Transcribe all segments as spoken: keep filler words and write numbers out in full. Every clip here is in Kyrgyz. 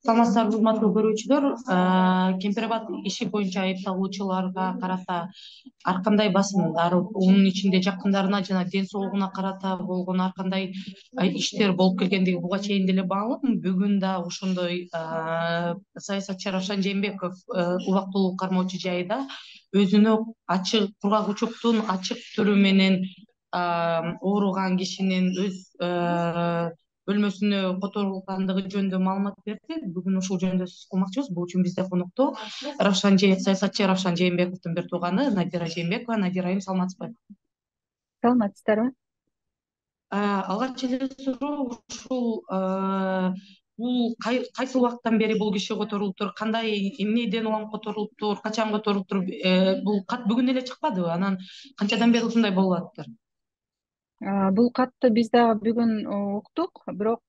Саламатсыздарбы, урматтуу көрүүчүлөр. Кемпир Абад иши боюнча айыпталуучуларга карата ар кандай басымдар, унун ичинде жакындарына жана ден соолугуна карата болгон ар кандай иштер болуп келгендиги буга чейин деле маалым. Бүгүн да ошондой саясатчы Равшан Жээнбеков убактылуу кармоочу жайда өзүнө ачык кургак учуктун ачык түрү менен ооруган кишинин өз бөлмөсүнө которулгандыгы жөнүндө маалымат берди. Бүгүн ушул жөнүндө сөз кылмакчыбыз. Бул үчүн бизде конокто Равшан саясатчы Равшан Жээнбековдун бир тууганы Надира Жээнбекова. Надира айым, саламатсызбы? Саламатсыздарбы? Алгач эле суроо ушул бул кайсы убакыттан бери бул киши которулуптур, кандай эмнеден улам которулуптур, качан которулуптур? Бул кат бүгүн эле чыкпадыбы? Анан канчадан бери ушундай болуп атыптыр? Бул катты биз дагы бүгүн уктук, бирок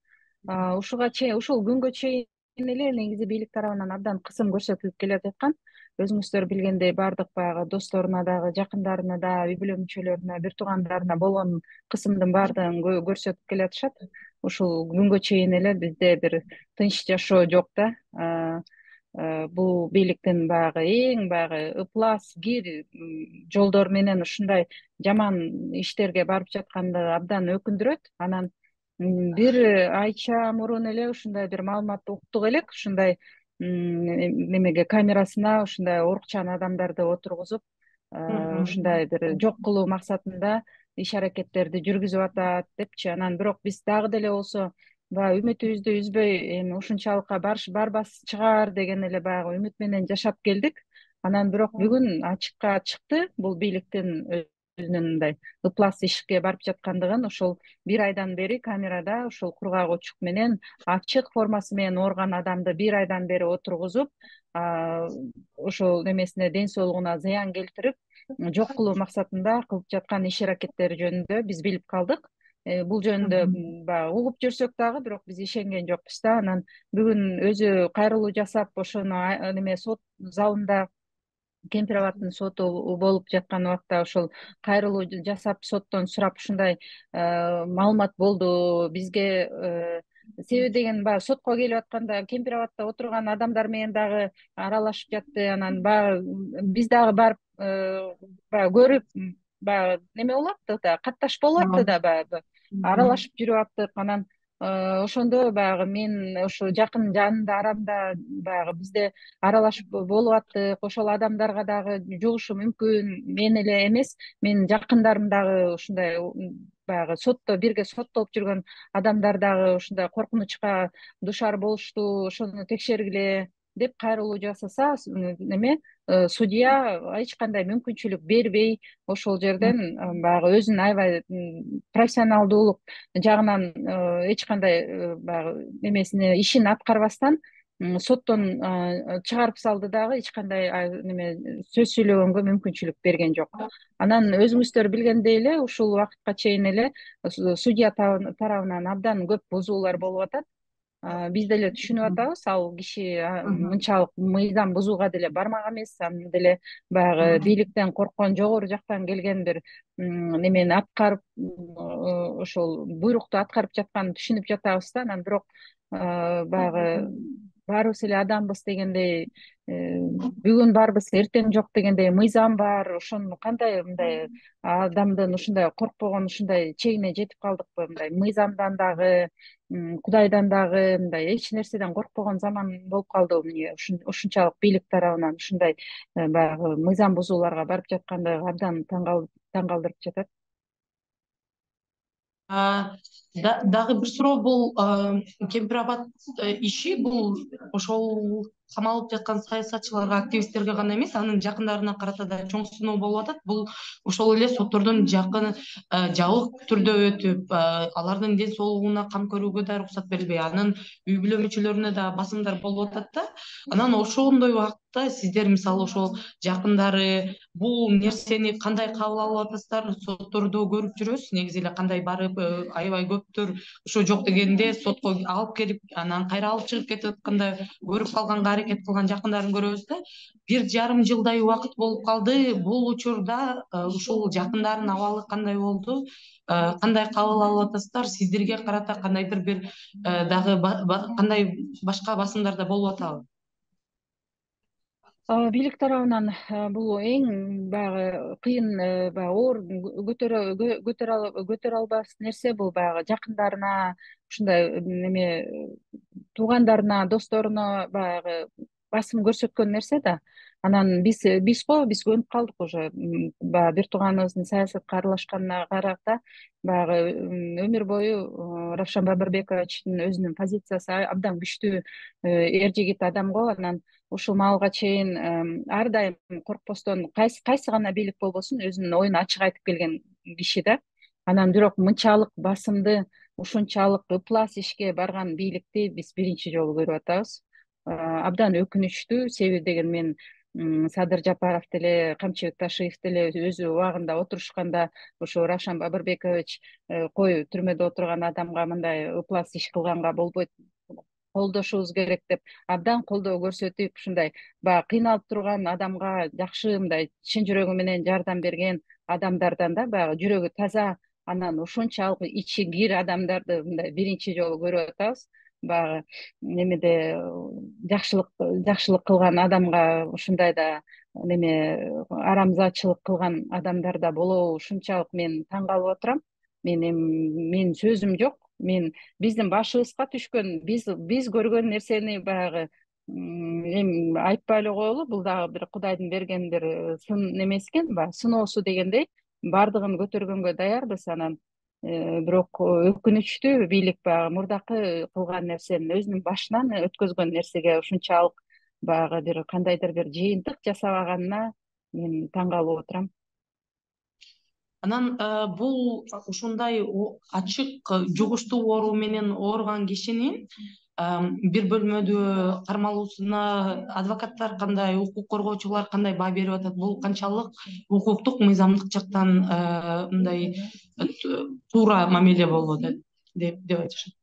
ушуга чейин, ушул күнгө чейин эле негизи бийлик тарабынан абдан кысым көрсөтүлүп келе жаткан. Өзүңүздөр билгендей, баардык баягы досторуна дагы, жакындарына да, үй бүлө мүчөлөрүнө, бир туугандарына болгон кысымдын баардыгын көрсөтүп келатышат. Ушул күнгө чейин эле бизде бир тынч жашоо жок да. Бул бийликтин баягы эң баягы ыплас, кир жолдор менен ушундай жаман иштерге барып жаткандыгы абдан өкүндүрөт. Анан бир айча мурун эле ушундай бир маалыматты уктук элек. Ушундай немеге камерасына ушундай оорукчан адамдарды отургузуп, ушундай бир жок кылуу максатында иш аракеттерди жүргүзүп атат депчи. Анан бирок биз дагы деле болсо баягы үмүтүбүздү үзбөй, эми ушунчалыкка барбас чыгар деген эле баягы үмүт менен жашап келдик. Анан бирок бүгүн ачыкка чыкты бул бийликтин өзүнүн мындай ыплас ишке барып жаткандыгын. Ошол бир айдан бери камерада ушул кургак учук менен ачык формасы менен ооруган адамды бир айдан бери отургузуп, ошол немесине, ден соолугуна зыян келтирип, жок кылуу максатында кылып жаткан иш аракеттери жөнүндө биз билип калдык. Бул жөнүндө баягы угуп жүрсөк дагы, бирок биз ишенген жокпуз да. Анан бүгүн өзү кайрылуу жасап, ошону неме сот залында, Кемпир Абадтын соту болуп жаткан убакта ошол кайрылуу жасап, соттон сурап ушундай маалымат болду бизге. Себеби деген баягы сотко келип атканда Кемпир Абадта отурган адамдар менен дагы аралашып жатты. Анан баягы биз дагы барып баягы көрүп, баягы неме болуп атты да, катташ болуп атты да, баягы аралашып жүрүп аттык. Анан ошондо баягы мен ошо жакын жанымда, арамда баягы бизде аралашып болуп аттык. Ошол адамдарга дагы жугушу мүмкүн. Мен эле эмес, менин жакындарым дагы ушундай баягы сотто бирге соттолуп жүргөн адамдар дагы ушундай коркунучка дуушар болушту. Ошону текшергиле деп кайрылуу жасаса, неме судья эч кандай мүмкүнчүлүк бербей, ошол жерден баягы өзүнүн аябай профессионалдуулук жагынан эч кандай баягы немесине, ишин аткарбастан соттон чыгарып салды дагы, эч кандай неме сөз сүйлөгөнгө мүмкүнчүлүк берген жок. Анан өзүңүздөр билгендей эле ушул убакытка чейин эле судья тарабынан абдан көп бузуулар болуп атат. Биз деле түшүнүп атабыз, ал киши мынчалык мыйзам бузууга деле бармак эмес. Анын деле баягы бийликтен корккон, жогору жактан келген бир немени аткарып, ошол буйрукту аткарып жатканын түшүнүп жатабыз да. Анан бирок баягы баарыбыз эле адамбыз дегендей, бүгүн барбыз, эртең жок дегендей мыйзам бар. Ошону кандай мындай адамдын ушундай коркпогон, ушундай чегине жетип калдыкпы? Мындай мыйзамдан дагы, Кудайдан дагы мындай эч нерседен коркпогон заман болуп калдыбы? Эмне ушунчалык бийлик тарабынан ушундай баягы мыйзам бузууларга барып жаткандыгы абдан таң калтырып жатат. Дагы бир суроо, бул Кемпир Абад иши бул ошол камалып жаткан саясатчыларга, активисттерге гана эмес, анын жакындарына карата да чоң сыноо болуп атат. Бул ошол эле соттордон жакын жабык түрдө өтүп, алардын ден соолугуна кам көрүүгө да уруксат берилбей, анын үй бүлө мүчөлөрүнө да басымдар болуп атат да. Анан ошондой убакытта сиздер, мисалы, ошол жакындары бул нерсени кандай кабыл алып атасыздар? Соттордо көрүп жүрөбүз, негизи эле кандай барып аябай көптөр ошо жок дегенде сотко алып келип, анан кайра алып чыгып кетип атканда көрүп калганга аракет кылган жакындарын көрөбүз да. Бир жарым жылдай убакыт болуп калды. Бул учурда ушул жакындардын абалы кандай болду? Кандай кабыл алып атасыздар? Сиздерге карата кандайдыр бир дагы кандай башка басымдар да болуп атабы? Бийлик тарабынан бул эң баягы кыйын, баягы оор көтөрө көтөрө албас нерсе. Бул баягы жакындарына, ушундай неме туугандарына, досторуна баягы басым көрсөткөн нерсе да. Анан биз бизго биз көнүп калдык уже. Баягы бир тууганыбыздын саясатка аралашканына карата баягы өмүр бою Равшан Бабырбековичтин өзүнүн позициясы абдан күчтүү эр жигит адам го. Анан ушул маалга чейин ар дайым коркпостон кайсы кайсы гана бийлик болбосун өзүнүн оюн ачык айтып келген киши да. Анан бирок мынчалык басымды, ушунчалык ыплас ишке барган бийликти биз биринчи жолу көрүп атабыз. Абдан өкүнүчтүү. Себеби деген мен Садыр Жапаров деле, Камчыбек Ташиев деле өзү убагында отурушканда ушу Равшан Бабырбекович кой түрмөдө отурган адамга мындай ыплас иш кылганга болбойт, колдошубуз керек деп абдан колдоо көрсөтүп, ушундай баягы кыйналып турган адамга жакшы мындай чын жүрөгү менен жардам берген адамдардан да баягы жүрөгү таза, анан ушунчалык ичи кир адамдарды мындай биринчи жолу көрүп атабыз. Баягы немеде жакшылык жакшылык кылган адамга ушундай да неме арамзаачылык кылган адамдар да болобу, ушунчалык мен таң калып отурам. Мен эми менин сөзүм жок. Мен биздин башыбызга түшкөн, биз биз көргөн нерсени баягы эми айтпай эле коелу. Бул дагы бир Кудайдын берген бир сын немеси экен, баягы сыноосу дегендей баардыгын көтөргөнгө даярбыз. Анан бирок өкүнүчтүү, бийлик баягы мурдакы кылган нерсенин, өзүнүн башынан өткөзгөн нерсеге ушунчалык баягы бир кандайдыр бир жыйынтык жасабаганына мен таң калып отурам. Анан бул ушундай ачык жугуштуу оору менен ооруган кишинин бир бөлмөдө кармалуусуна адвокаттар кандай, укук коргоочулар кандай баа берип атат? Бул канчалык укуктук, мыйзамдык жактан мындай туура мамиле болуп атат деп айтышат?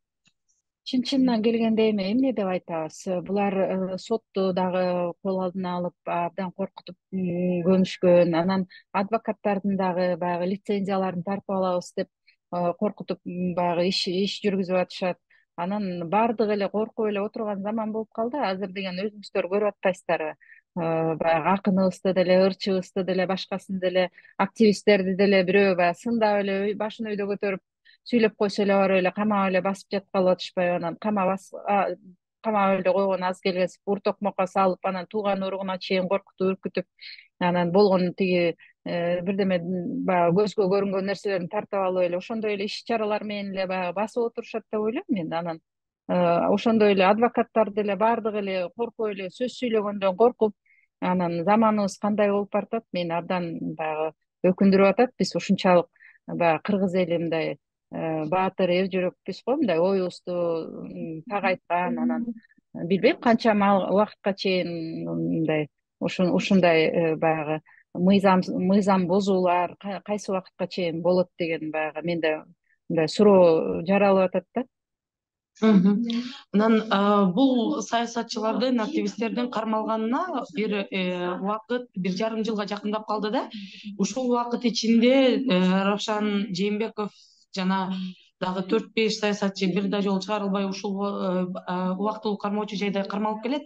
Чын чынынан келгенде эми эмне деп айтабыз? Булар сотту дагы кол алдына алып абдан коркутуп көнүшкөн. Анан адвокаттардын дагы баягы лицензияларын тартып алабыз деп коркутуп баягы иш иш жүргүзүп атышат. Анан баардыгы эле коркуп эле отурган заман болуп калды. Азыр деген өзүңүздөр көрүп атпайсыздарбы? Баягы акыныбызды деле, ырчыбызды деле, башкасын деле, активисттерди деле бирөө баягы сындап эле башын өйдө көтөрүп сүйлөп койсо эле барып эле камап эле басып жаткалы атышпайбы? Анан камап камап эле койгон аз келгенсип ур токмокко салып, анан тууган уругуна чейин коркутуп, үркүтүп, анан болгон тиги бирдеме баягы көзгө көрүнгөн нерселерин тартып алып эле ошондой эле иш чаралар менен эле баягы басып отурушат деп ойлойм мен. Анан ошондой эле адвокаттар деле баардыгы эле коркуп эле сөз сүйлөгөндөн коркуп, анан заманыбыз кандай болуп баратат, мени абдан баягы өкүндүрүп атат. Биз ушунчалык баягы кыргыз эли мындай баатыр, эр жүрөкпүз го, мындай оюбузду так айткан, анан билбейм канча убакытка чейин мындай ушундай баягы мыйзам мыйзам бузуулар кайсы убакытка чейин болот деген баягы менде мындай суроо жаралып атат да. Анан бул саясатчылардын, активисттердин кармалганына бир убакыт, бир жарым жылга жакындап калды да. Ушул убакыт ичинде Равшан Жээнбеков жана дагы төрт беш саясатчы бир да жолу чыгарылбай ушул убактылуу кармоочу жайда кармалып келет.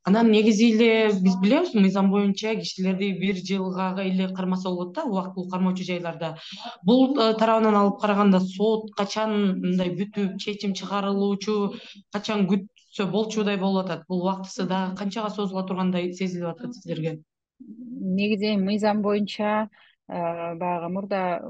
Анан негизи эле биз билебиз, мыйзам боюнча кишилерди бир жылга эле кармаса болот да, убактылуу кармоочу жайларда. Бул тарабынан алып караганда сот качан мындай бүтүп, чечим чыгарылуучу, качан күтсө болчудай болуп атат? Бул убактысы дагы канчага созула тургандай сезилип атат сиздерге? Негизи мыйзам боюнча баягы мурда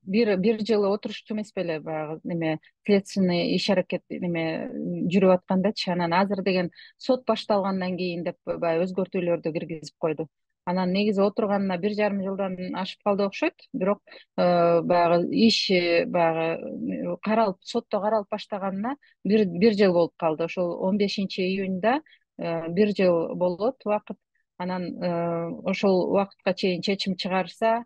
бир бир жыл отурушчу эмес беле, баягы неме следственный иш аракет неме жүрүп аткандачы. Анан азыр деген сот башталгандан кийин деп баягы өзгөртүүлөрдү киргизип койду. Анан негизи отурганына бир жарым жылдан ашып калды окшойт. Бирок баягы иш баягы каралып, сотто каралып баштаганына бир бир жыл болуп калды. Ошол он бешинчи июньда бир жыл болот убакыт. Анан ошол убакытка чейин чечим чыгарса,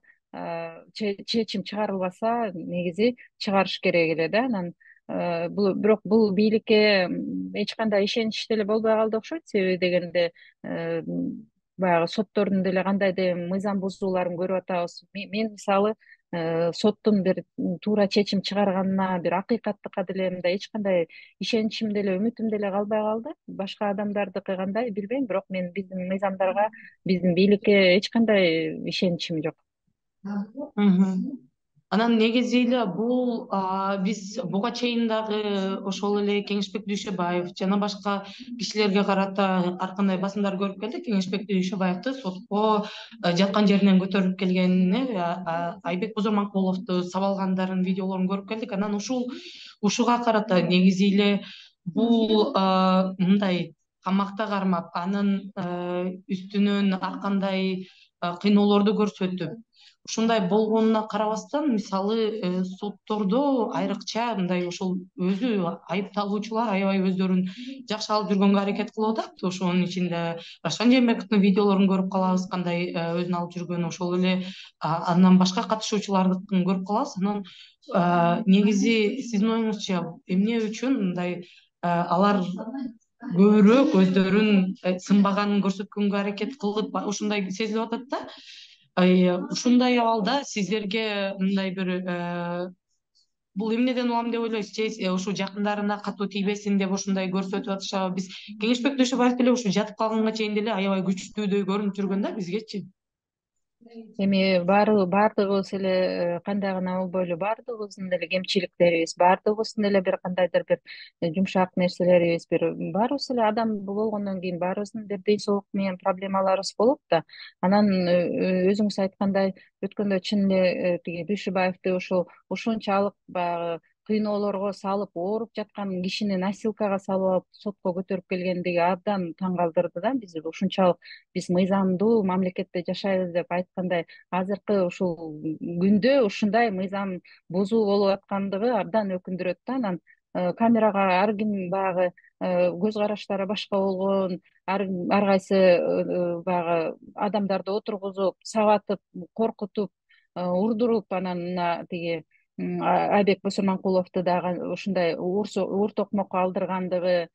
чечим чыгарылбаса, негизи чыгарыш керек эле да. Анан бул бирок бул бийликке эч кандай ишенич деле болбой калды окшойт. Себеби дегенде баягы соттордун деле кандайдыр мыйзам бузууларын көрүп атабыз. Мен мисалы соттун бир туура чечим чыгарганына, бир акыйкаттыкка деле мындай эч кандай ишеничим деле үмүтүм деле калбай калды. Башка адамдардыкы кандай билбейм, бирок мен биздин мыйзамдарга, биздин бийликке эч кандай ишеничим жок. Анан негизи эле бул биз буга чейин дагы ошол эле Кеңешбек Дүйшөбаев жана башка кишилерге карата ар кандай басымдар көрүп келдик. Кеңешбек Дүйшөбаевди сотко жаткан жеринен көтөрүлүп келгенине, Айбек Бузурманкуловду сабалгандарын видеолорун көрүп келдик. Анан ушул ушуга карата негизи эле бул мындай камакта кармап, анын үстүнөн ар кандай кыйноолорду көрсөтүп, ушундай болгонуна карабастан, мисалы соттордо айрыкча мындай ошол өзү айыпталуучулар аябай өздөрүн жакшы алып жүргөнгө аракет кылып атат. Ошонун ичинде Рашкан Жээнбековдун видеолорун көрүп калабыз, кандай өзүн алып жүргөнү, ошол эле андан башка катышуучулардыкын көрүп калабыз. Анан негизи сиздин оюңузча эмне үчүн мындай алар көбүрөөк өздөрүн сынбаганын көрсөткөнгө аракет кылып ушундай сезилип атат да? Ушундай абалда сиздерге мындай бир бул эмнеден улам деп ойлойсуз? Же ушу жакындарына катуу тийбесин деп ушундай көрсөтүп атышабы? Биз Кеңешбек Дүйшөбаев деле ушу жатып калганга чейин деле аябай күчтүүдөй көрүнүп жүргөн да бизгечи. Эми баары баардыгыбыз эле кандай гана болбойлу, баардыгыбыздын деле кемчиликтерибиз, баардыгыбыздын деле бир кандайдыр бир жумшак нерселерибиз, бир баарыбыз эле адам болгондон кийин баарыбыздын бир ден соолук менен проблемаларыбыз болот да. Анан өзүңүз айткандай, өткөндө чын эле тиги Дүйшөбаевди ошол ушунчалык баягы кыйноолорго салып, ооруп жаткан кишини носилкага салып алып сотко көтөрүп келгендиги абдан таң калтырды да бизди. Ушунчалык биз мыйзамдуу мамлекетте жашайбыз деп айткандай, азыркы ушул күндө ушундай мыйзам бузуу болуп аткандыгы абдан өкүндүрөт да. Анан камерага ар ким баягы көз караштары башка болгон, ар ар кайсы баягы адамдарды отургузуп, сабатып, коркутуп, урдуруп, анан мына тиги Айбек Бусурманкуловду дагы ушундай уур токмокко алдыргандыгы,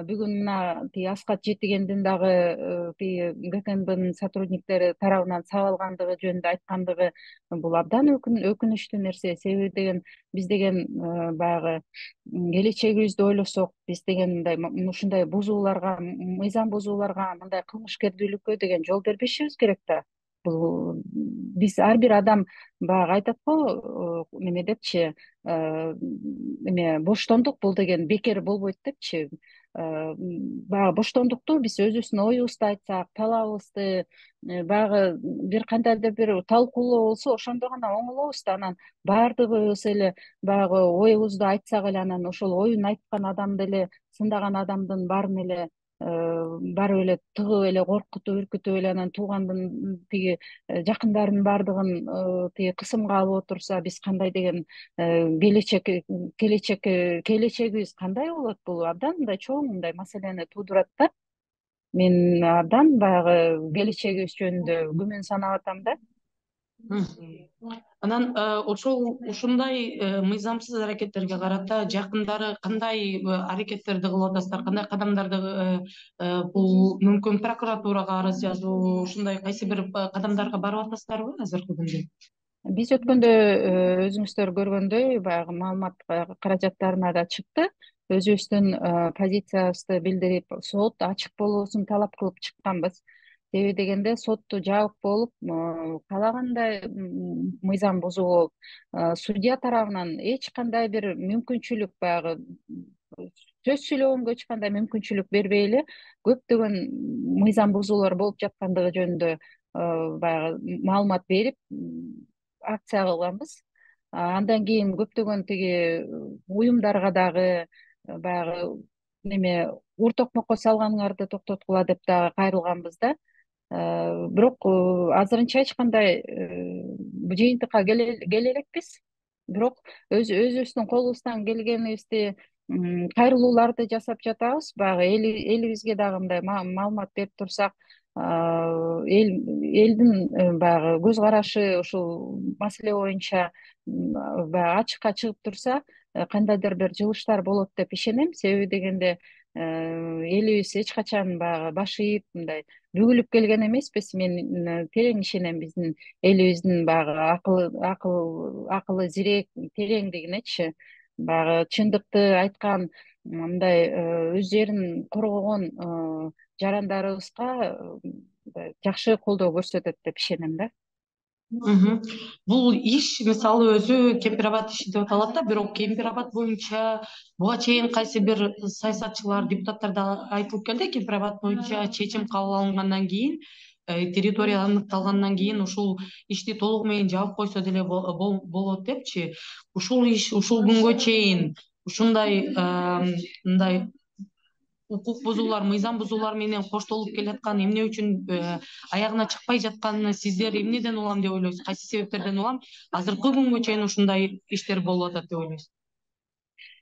бүгүн мына тиги Аскат Жетигендин дагы тиги ГКНБнын сотрудниктери тарабынан сабалгандыгы жөнүндө айткандыгы, бул абдан өкүнүчтүү нерсе. Себеби деген биз деген баягы келечегибизди ойлосок, биз деген мындай ушундай бузууларга, мыйзам бузууларга, мындай кылмышкердүүлүккө деген жол бербешибиз керек да. Бул биз ар бир адам баягы айтат го неме депчи, эме боштондук бул деген бекер болбойт депчи. Баягы боштондукту биз өзүбүздүн оюбузду айтсак, талабыбызды, баягы бир кандайдыр бир талкуулоо болсо, ошондо гана оңолобуз да. Анан баардыгыбыз эле баягы оюбузду айтсак эле, анан ошол оюн айткан адам деле, сындаган адамдын баарын эле барып эле тыгып эле коркутуп, үркүтүп эле, анан туугандын тиги жакындарынын баардыгын тиги кысымга алып отурса, биз кандай деген келечек келечек келечегибиз кандай болот? Бул абдан мындай чоң мындай маселени туудурат да. Мен абдан баягы келечегибиз жөнүндө күмөн санап атам да. Анан ошол ушундай мыйзамсыз аракеттерге карата жакындары кандай аракеттерди кылып атасыздар, кандай кадамдарды, бул мүмкүн прокуратурага арыз жазуу, ушундай кайсы бир кадамдарга барып атасыздарбы азыркы күндө? Биз өткөндө өзүңүздөр көргөндөй баягы маалымат каражаттарына да чыкты. Өзүбүздүн позициябызды билдирип, сот ачык болуусун талап кылып чыкканбыз. Себеби дегенде сотту жабык болуп, каалагандай мыйзам бузуу болуп, судья тарабынан эч кандай бир мүмкүнчүлүк, баягы сөз сүйлөгөнгө эч кандай мүмкүнчүлүк бербей эле көптөгөн мыйзам бузуулар болуп жаткандыгы жөнүндө баягы маалымат берип акция кылганбыз. Андан кийин көптөгөн тиги уюмдарга дагы баягы неме ур токмокко салганыңарды токтоткула деп дагы кайрылганбыз да. Бирок азырынча эч кандай жыйынтыкка келе элекпиз. Бирок өзүбүздүн колубуздан келгенибизди, кайрылууларды жасап жатабыз. Баягы элибизге дагы мындай маалымат берип турсак, эл элдин баягы көз карашы ушул маселе боюнча баягы ачыкка чыгып турса, кандайдыр бир жылыштар болот деп ишенем. Себеби дегенде элибиз эч качан баягы баш ийип мындай бүгүлүп келген эмеспиз. Мен терең ишенем биздин элибиздин баягы акылы акыл акылы зирек тереңдигинечи. Баягы чындыкты айткан мындай өздөрүн коргогон жарандарыбызга жакшы колдоо көрсөтөт деп ишенем да. Бул иш мисалы өзү Кемпир Абад иши деп аталат да, бирок Кемпир Абад боюнча буга чейин кайсы бир саясатчылар, депутаттар айтылып келди. Кемпир Абад боюнча чечим кабыл алынгандан кийин, территория аныкталгандан кийин ушул ишти толугу менен жаап койсо деле болот депчи. Ушул иш ушул күнгө чейин ушундай мындай укук бузуулар, мыйзам бузуулар менен коштолуп келаткан эмне үчүн аягына чыкпай жатканын сиздер эмнеден улам деп ойлойсуз? Кайсы себептерден улам азыркы күнгө чейин ушундай иштер болуп атат деп ойлойсуз?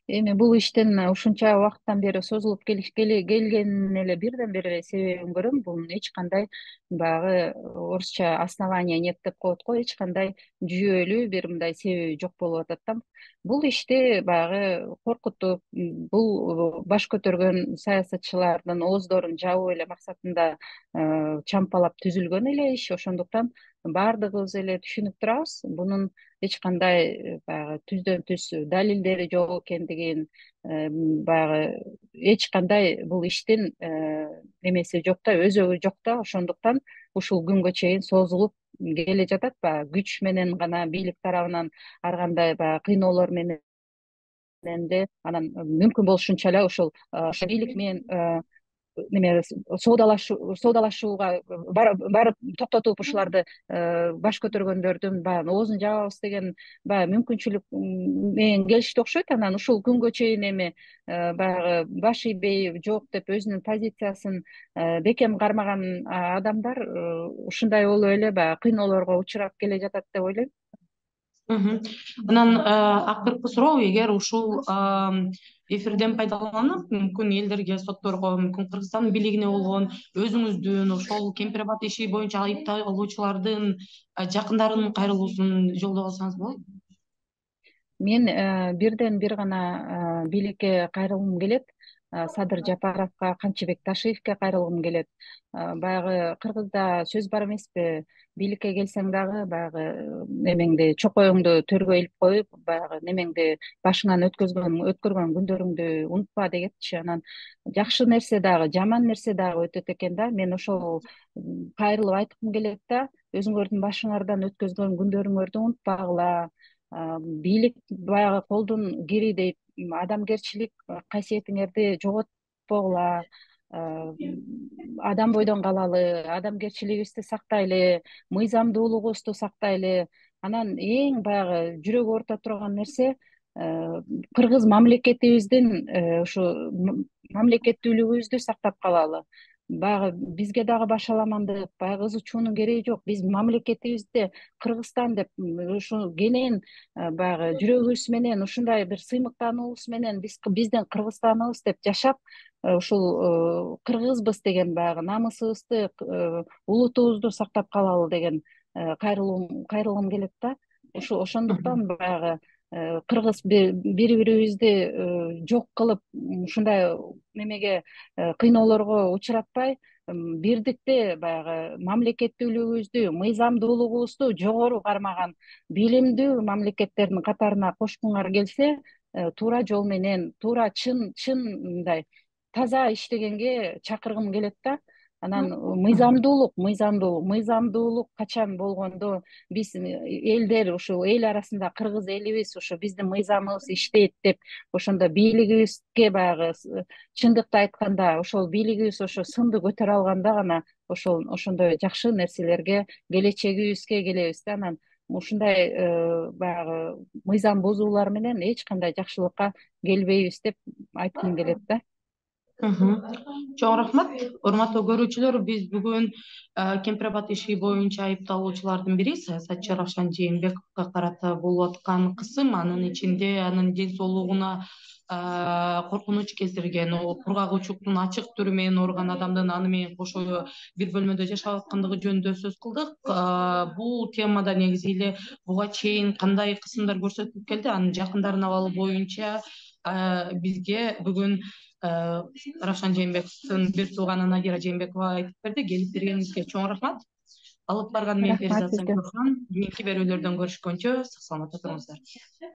Эми бул иштин ушунча убакыттан бери созулуп келгенин эле бирден бир себебин көрөм. Бул эч кандай баягы орусча основания нет деп коет го, эч кандай жүйөлүү бир мындай себеби жок болуп атат да. Бул ишти баягы коркутуп, бул баш көтөргөн саясатчылардын ооздорун жабуу эле максатында чампалап түзүлгөн эле иш. Ошондуктан баардыгыбыз эле түшүнүп турабыз, бунун эч кандай баягы түздөн түз далилдери жок экендигин, баягы эч кандай бул иштин немеси жок да, өзөгү жок да. Ошондуктан ушул күнгө чейин созулуп келе жатат. Баягы күч менен гана, бийлик тарабынан ар кандай баягы кыйноолор менен де, анан мүмкүн болушунча эле ушул бийлик менен неме соодалашууга барып токтотуп ушуларды баш көтөргөндөрдүн баягы оозун жабабыз деген баягы мүмкүнчүлүк менен келишти окшойт. Анан ушул күнгө чейин эми баягы баш ийбей жок деп өзүнүн позициясын бекем кармаган адамдар ушундай болуп эле баягы кыйноолорго учурап келе жатат деп ойлойм. Анан акыркы суроо, эгер ушул эфирден пайдаланып, мүмкүн элдерге, сотторго, мүмкүн Кыргызстандын бийлигине болгон өзүңүздүн ошол Кемпир Абад иши боюнча айыпталуучулардын жакындарынын кайрылуусун жолдоп алсаңыз болот. Мен бирден бир гана бийликке кайрылгым келет. Садыр Жапаровго, Камчыбек Ташиевке кайрылгым келет. Баягы кыргызда сөз бар эмеспи, бийликке келсең дагы баягы немеңди, чокоюңду төргө илип коюп, баягы немеңди башыңан өткөзгөн өткөргөн күндөрүңдү унутпа дегенчи. Анан жакшы нерсе дагы, жаман нерсе дагы өтөт экен да. Мен ошол кайрылып айткым келет да, өзүңөрдүн башыңардан өткөзгөн күндөрүңөрдү унутпагыла. Бийлик баягы колдун кири дейт, адамгерчилик касиетиңерди жоготпогула, адам бойдон калалы, адамгерчилигибизди сактайлы, мыйзамдуулугубузду сактайлы. Анан эң баягы жүрөк оорута турган нерсе кыргыз мамлекетибиздин ушу мамлекеттүүлүгүбүздү сактап калалы. Баягы бизге дагы башаламандык, баягы ызы чуунун кереги жок. Биз мамлекетибизде Кыргызстан деп ушу кенен баягы жүрөгүбүз менен, ушундай бир сыймыктануубуз менен биз биздин Кыргызстаныбыз деп жашап, ушул кыргызбыз деген баягы намысыбызды, улутубузду сактап калалы деген кайрылуум кайрылгым келет да. Ушу ошондуктан баягы кыргыз бири бирибизди жок кылып, ушундай немеге кыйноолорго учуратпай, бирдикте баягы мамлекеттүүлүгүбүздү, мыйзамдуулугубузду жогору кармаган билимдүү мамлекеттердин катарына кошкуңар келсе, туура жол менен, туура чын чын мындай таза иштегенге чакыргым келет да. Анан мыйзамдуулук, мыйзамдуулук, мыйзамдуулук качан болгондо биз элдер, ушул эл арасында кыргыз элибиз ушу биздин мыйзамыбыз иштейт деп, ошондо бийлигибизге баягы чындыкты айтканда, ошол бийлигибиз ошо сынды көтөрө алганда гана ошол ошондой жакшы нерселерге, келечегибизге келебиз да. Анан ушундай баягы мыйзам бузуулар менен эч кандай жакшылыкка келбейбиз деп айткым келет да. Чоң рахмат. Урматтуу көрүүчүлөр, биз бүгүн Кемпир Абад иши боюнча айыпталуучулардын бири саясатчы Равшан Жээнбековго карата болуп аткан кысым, анын ичинде анын ден соолугуна коркунуч келтирген, кургак учуктун ачык түрү менен ооруган адамдын аны менен кошо бир бөлмөдө жашап аткандыгы жөнүндө сөз кылдык. Бул темада негизи эле буга чейин кандай кысымдар көрсөтүлүп келди, анын жакындарын абалы боюнча бизге бүгүн Равшан Жээнбековдун бир тууганы Надира Жээнбекова айтып берди. Келип бергениңизге чоң рахмат. Алып барган мен Рахмат Перизат сизге. Саңкөрхан. Кийинки берүүлөрдөн көрүшкөнчө сак саламатта туруңуздар.